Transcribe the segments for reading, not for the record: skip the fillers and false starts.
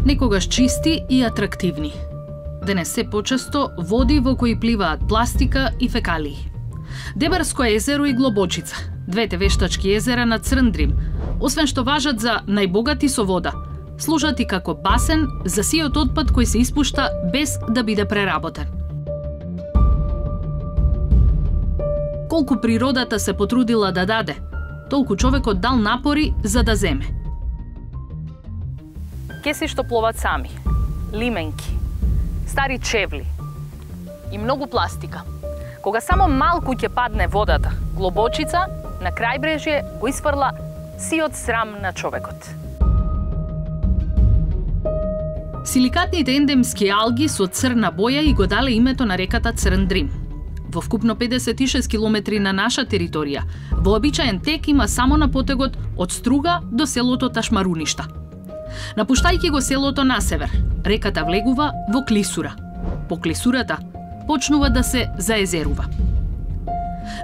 Некогаш чисти и атрактивни. Денес се почесто води во кои пливаат пластика и фекалии. Дебарско езеро и Глобочица, двете вештачки езера на Црндрим, освен што важат за најбогати со вода, служат и како басен за сиот отпад кој се испушта без да биде преработен. Колку природата се потрудила да даде, толку човекот дал напори за да земе. Кеси што пловат сами, лименки, стари чевли и многу пластика. Кога само малку ќе падне водата, Глобочица на крајбрежје го исфрла сиот срам на човекот. Силикатните ендемски алги со црна боја и го дале името на реката Црндрим. Во вкупно 56 километри на наша територија, вообичаен тек има само на потегот од Струга до селото Ташмаруништа. Напуштајќи го селото на север, реката влегува во Клисура. По Клисурата почнува да се заезерува.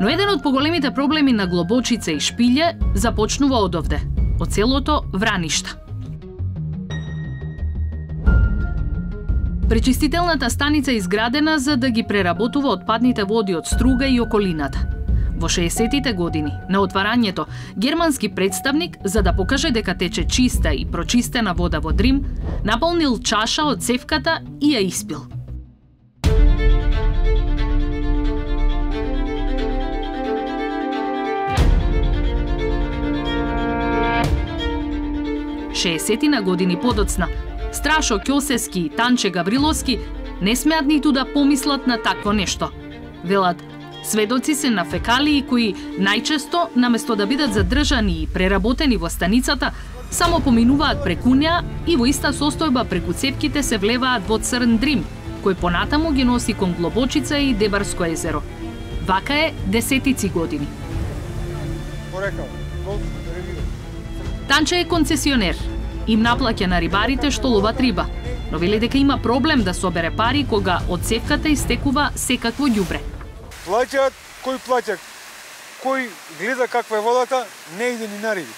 Но еден од поголемите проблеми на Глобочица и Шпилје започнува одовде, од селото Враништа. Пречистителната станица е изградена за да ги преработува отпадните води од Струга и околината. Во 60-тите години, на отварањето, германски представник, за да покаже дека тече чиста и прочистена вода во Дрим, наполнил чаша од цевката и ја испил. Шеесетина години подоцна, Страшо Ќосески и Танче Гавриловски не смеат ниту да помислат на такво нешто. Велат, сведоци се на фекалии кои најчесто, наместо да бидат задржани и преработени во станицата, само поминуваат преку неа и во иста состојба преку цевките се влеваат во Црндрим, кој понатаму ги носи кон Глобочица и Дебарско езеро. Вака е десетици години. Танче е концесионер. Им наплаќа на рибарите што ловат риба, но вели дека има проблем да собере пари кога од цевката истекува секакво ѓубре. Плаќаат, кој гледа каква е водата, не иде ни на риби.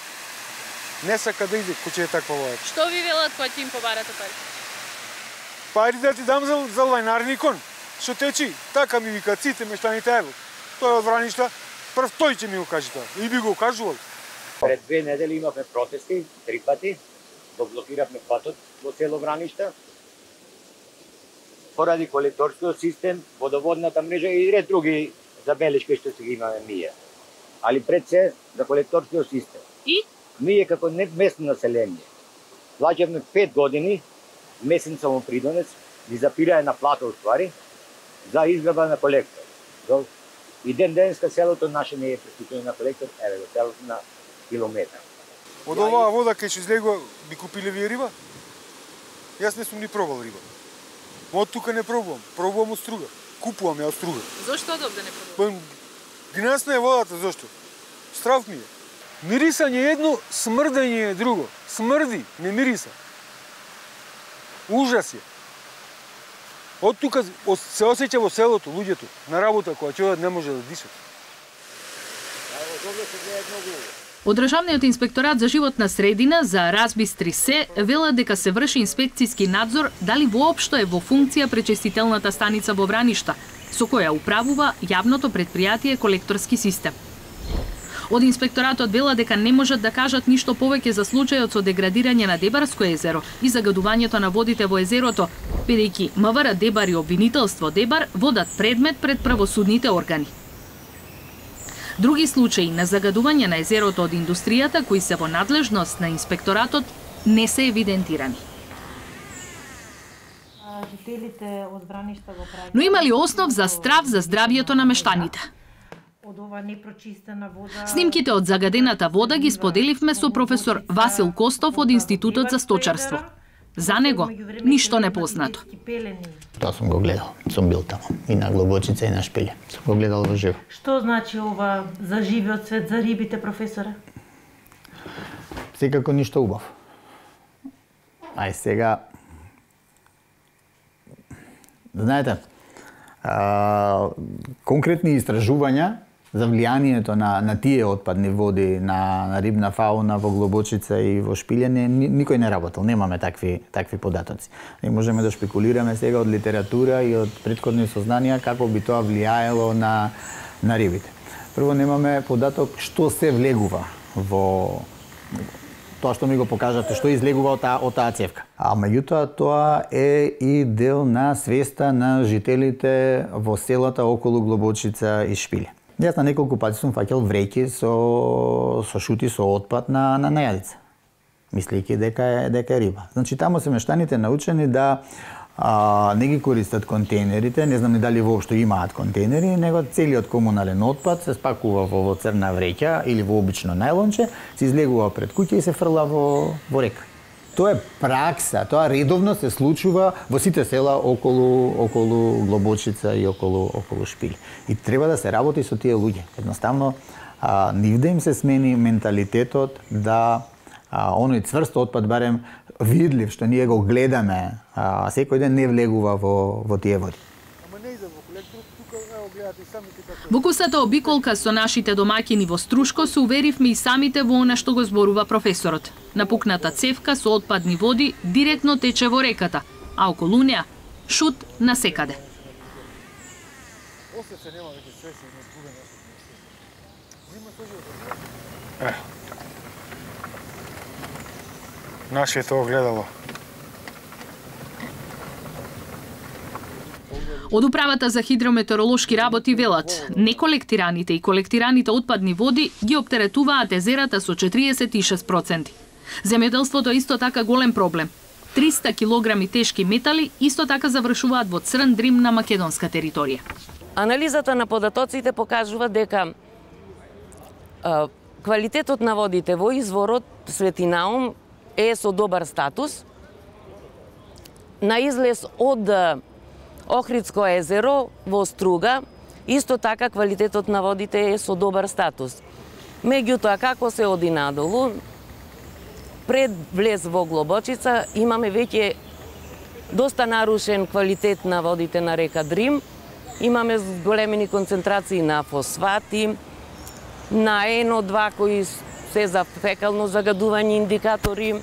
Не сака да иде кој е таква вода. Што ви велат кога ќе им побарате пари? Пари да ти дам за лајнарникон, што течи, така ми вика ците мештаните, ево. Тој од Враништа, прв тој ќе ми го каже тоа. И би го кажувал. Пред 2 недели имавме протести, 3 пати. Го блокиравме патот во село Враништа. Поради колекторскиот систем, водоводната мрежа и ред други забелешки што се ги имаме ние. Али пред се за колекторскиот систем. И? Ние како местно население плаќавме 5 години месен самопридонец, ги запирае на плата уствари, за изграба на колектор. И денеска селото наше не е преступено на колектор, еве го селото на километар. Од оваа вода кај што излегува, би купиле вие риба? Јас не сум ни пробал риба. Од тука не пробувам. Пробувам од Струга. Купувам ја од Струга. Зошто одовде не пробувам? Гнасна е водата, зошто? Страв ми е. Мирисање едно, смрдање е друго. Смрди, не мириса. Ужас е. Од тука се осеќа во селото, луѓето, на работа, кога ќе одат не може да дишат. Од Државниот инспекторат за животна средина за Разбистри се велат дека се врши инспекцијски надзор дали воопшто е во функција пречистителната станица во Враништа, со која управува јавното претпријатие колекторски систем. Од инспекторатот велат дека не можат да кажат ништо повеќе за случајот со деградирање на Дебарско езеро и загадувањето на водите во езерото, бидејќи МВР Дебар и обвинителство Дебар водат предмет пред правосудните органи. Други случаи на загадување на езерото од индустријата кои се во надлежност на инспекторатот не се евидентирани. Но има ли основ за страв за здравјето на мештаните? Снимките од загадената вода ги споделивме со професор Васил Костов од Институтот за сточарство. За него ништо непознато. Тоа сум го гледал, сум бил таму и на Глобочица и на Шпилје. Сум го гледал во живо. Што значи ова за живиот свет, за рибите, професоре? Секако ништо убав. Ај сега, знаете, конкретни истражувања за влијанието на тие отпадни води на рибна фауна во Глобочица и во Шпилје никој не работел, немаме такви податоци. И можеме да шпекулираме сега од литература и од претходни сознанија како би тоа влијаело на рибите. Прво немаме податок што се влегува во тоа што ми го покажате, што излегува од таа цевка. А меѓутоа тоа е и дел на свеста на жителите во селата околу Глобочица и Шпилје. Јас на неколку пати сум фаќал вреќи со шути со отпад на јадица, мислејќи дека е риба. Значи таму се мештаните научени да не ги користат контейнерите, не знам ни дали воопшто имаат контейнери, него целиот комунален отпад се спакува во црна вреќа или во обично најлонче, се излегува пред куќа и се фрла во река. Тоа е пракса, тоа редовно се случува во сите села околу Глобочица и околу Шпилје. И треба да се работи со тие луѓе. Едноставно, нивде им се смени менталитетот да оној цврст отпад, барем видлив, што ние го гледаме, секој ден не влегува во тие води. Во кусата обиколка со нашите домаќини во Струшко се уверивме и самите во она што го зборува професорот. Напукната цевка со отпадни води директно тече во реката, а околу неа шут насекаде. Нашето огледало. Од Управата за хидрометеоролошки работи велат, неколектираните и колектираните отпадни води ги оптеретуваат езерата со 46%. Земјоделството е исто така голем проблем. 300 килограми тешки метали исто така завршуваат во црн дрим на македонска територија. Анализата на податоците покажува дека квалитетот на водите во изворот Свети Наум е со добар статус. На излез од Охридско езеро во Струга, исто така квалитетот на водите е со добар статус. Меѓутоа, како се оди надолу, пред влез во Глобочица имаме веќе доста нарушен квалитет на водите на река Дрим. Имаме големени концентрации на фосфати, на NO2 кои се за фекално загадување индикатори,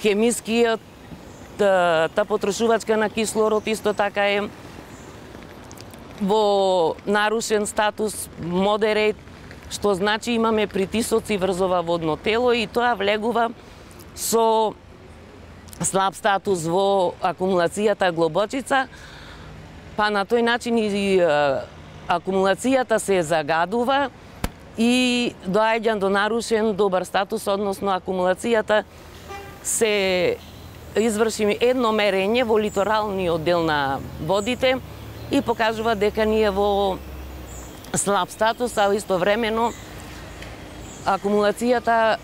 хемискиот та потрошувачка на кислород исто така е во нарушен статус модерейт, што значи имаме притисоци врз ова водно тело и тоа влегува со слаб статус во акумулацијата Глобочица, па на тој начин и акумулацијата се загадува и доаѓа до нарушен добар статус, односно акумулацијата се изврши едно мерење во литоралниот дел на водите и покажува дека ние во слаб статус, а истовремено акумулацијата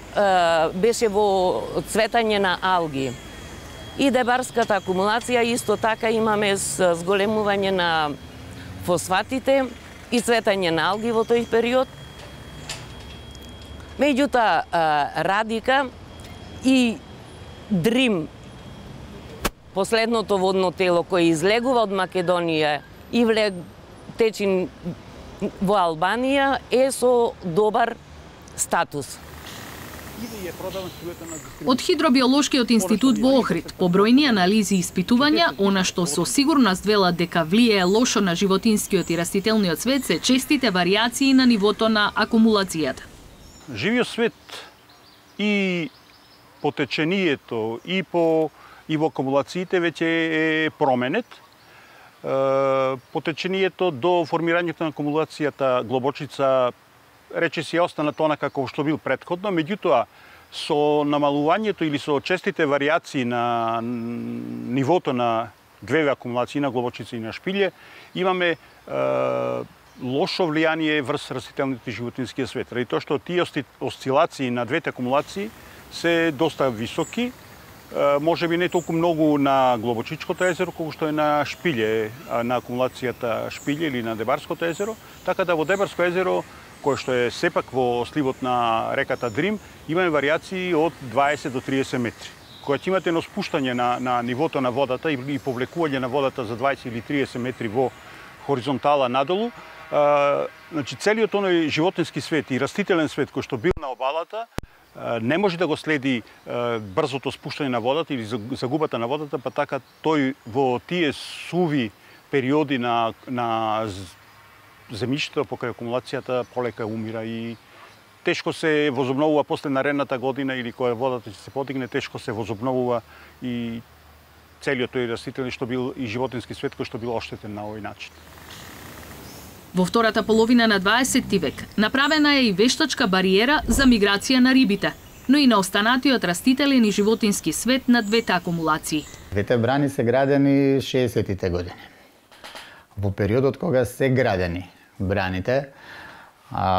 беше во цветање на алги. И дебарската акумулација исто така имаме зголемување на фосфатите и цветање на алги во тој период. Меѓутоа, Радика и Дрим, последното водно тело кој излегува од Македонија и течи во Албанија, е со добар статус. Од Хидробиолошкиот институт во Охрид, по бројни анализи и испитувања, она што со сигурност велат дека влијае лошо на животинскиот и растителниот свет се честите варијации на нивото на акумулацијата. Живиот свет и по течението и во акумулациите веќе е променет. По течението до формирањето на акумулацијата Глобочица рече си остана тона како што бил претходно, меѓутоа со намалувањето или со честите варијации на нивото на две акумулации на Глобочица и на Шпилје, имаме лошо влијание врз растителните и животинскиот свет. Ради тоа што тие осцилации на двете акумулации се доста високи, може би не толку многу на Глобочичкото езеро, колку што е на Шпилје, на акумулацијата Шпилје или на Дебарското езеро, така да во Дебарско езеро, кој што е сепак во сливот на реката Дрим, имаме варијации од 20 до 30 метри. Кога ќе имате едно спуштање на нивото на водата и повлекување на водата за 20 или 30 метри во хоризонтала надолу, значи целиот оној животински свет и растителен свет кој што бил на обалата не може да го следи брзото спуштање на водата или загубата на водата, па така тој во тие суви периоди на земјиштето покрај акумулацијата полека умира и тешко се возобновува после наредната година или кога водата ќе се подигне, тешко се возобновува и целиот тој растителен што бил и животински свет кој што бил оштетен на овој начин. Во втората половина на 20 век направена е и вештачка бариера за миграција на рибите, но и на останатиот растителен и животински свет на двете акумулации. Двете брани се градени 60-тите години. Во периодот кога се градени браните,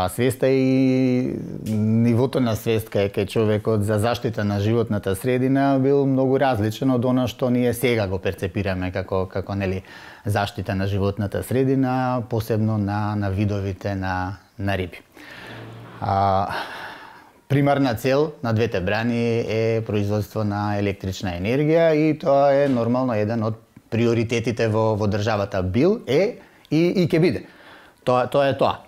свеста и нивото на свест кај човекот за заштита на животната средина бил многу различен од она што ние сега го перцепираме како нели заштита на животната средина, посебно на видовите на риби. Примарна цел на двете брани е производство на електрична енергија и тоа е нормално еден од приоритетите во државата бил и ќе биде. Тоа е тоа.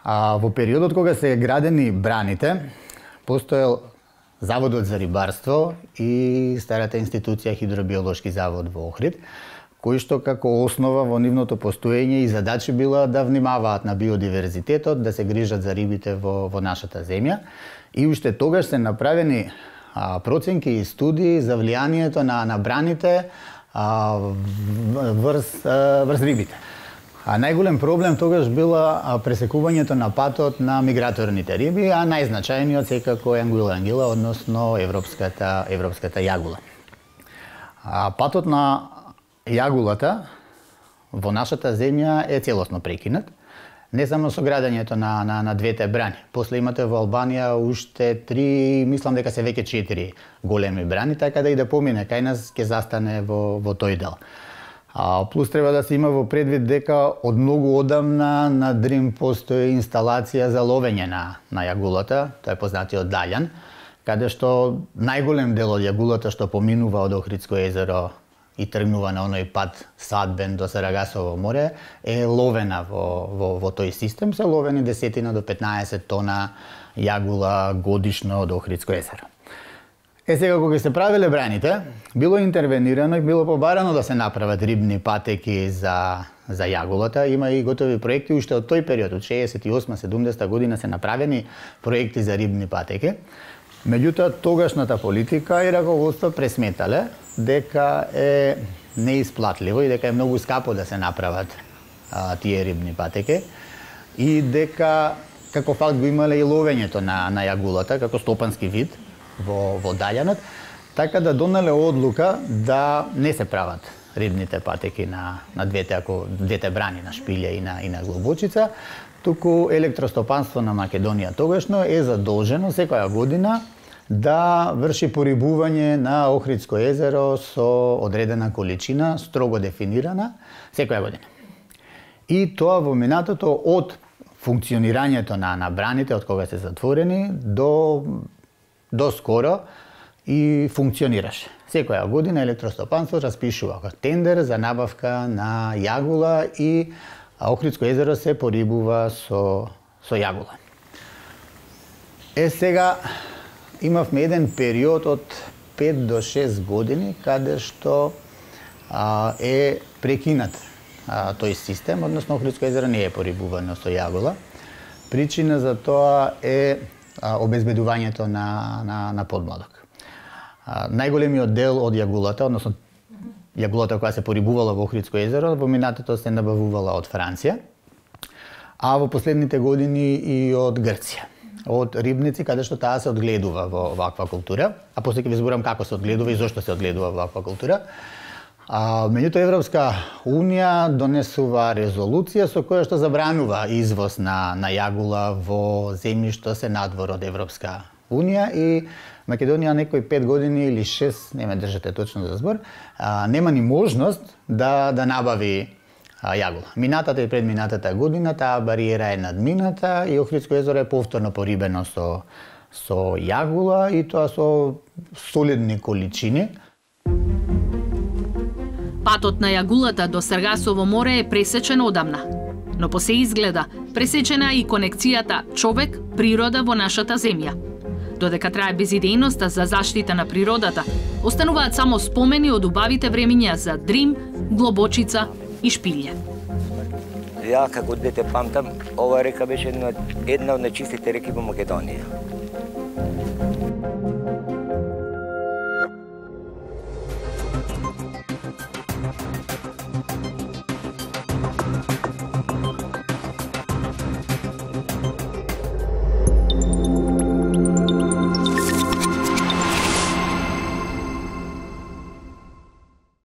Во периодот кога се градени браните, постоел Заводот за рибарство и старата институција Хидробиолошки завод во Охрид, кои што како основа во нивното постоење и задачи била да внимаваат на биодиверзитетот, да се грижат за рибите во нашата земја. И уште тогаш се направени проценки и студии за влијанието на браните врз рибите. Најголем проблем тогаш била пресекувањето на патот на миграторните риби, а најзначајниот секако е ангуила ангила, односно европската јагула. Патот на јагулата во нашата земја е целосно прекинат, не само со градењето на двете брани. После имате во Албанија уште 3, мислам дека се веќе 4 големи брани, така да и да помине кај нас ќе застане во тој дел. Плюс треба да се има во предвид дека од многу одамна на Дрим постои инсталација за ловење на јагулата, тоа е познатиот Далјан, каде што најголем дел од јагулата што поминува од Охридско езеро и тргнува на оној пат Садбен до Сарагасово море, е ловена во тој систем, се ловени 10 до 15 тона јагула годишно од Охридско езеро. Сега кога се правеле браните, било интервенирано и било побарано да се направат рибни патеки за јагулата. Има и готови проекти уште од тој период, од 68-70 година се направени проекти за рибни патеки. Меѓутоа, тогашната политика и раководство пресметале дека е неисплатливо и дека е многу скапо да се направат тие рибни патеки и дека како факт го имале и ловењето на јагулата како стопански вид во Далјанот, така да донеле одлука да не се прават рибните патеки на двете брани, на Шпилја и на Глобочица, туку електростопанство на Македонија тогашно е задолжено секоја година да врши порибување на Охридско езеро со одредена количина, строго дефинирана, секоја година. И тоа во минатото од функционирањето на браните, од кога се затворени, до скоро и функционираше. Секоја година електростопанство распишува тендер за набавка на јагула и Охридско езеро се порибува со јагула. Сега имавме еден период од 5 до 6 години каде што е прекинат тој систем, односно Охридско езеро не е порибувано со јагула. Причина за тоа е обезбедувањето на подмладок. Најголемиот дел од јагулата, односно јагулата која се порибувала во Охридско езеро, во минатото се набавувала од Франција, а во последните години и од Грција. Од рибници, каде што таа се одгледува во аквакултура, а после ќе ви зборам како се одгледува и зошто се одгледува во аквакултура. Меѓутоа Европска Унија донесува резолуција со која што забранува извоз на јагула во земји што се надвор од Европска Унија и Македонија некои 5 години или 6, не ме држате точно за збор, нема ни можност да набави јагула. Минатата и предминатата година таа бариера е надмината и Охридско езеро е повторно порибено со јагула и тоа со солидни количини. Патот на јагулата до Саргасово море е пресечен одамна, Но по се изгледа, пресечена и конекцијата човек-природа во нашата земја. Додека трае безидејноста за заштита на природата, остануваат само спомени од убавите времиња за Дрим, Глобочица и Шпилје. Ја како дете памтам, ова река беше една од најчистите реки во Македонија.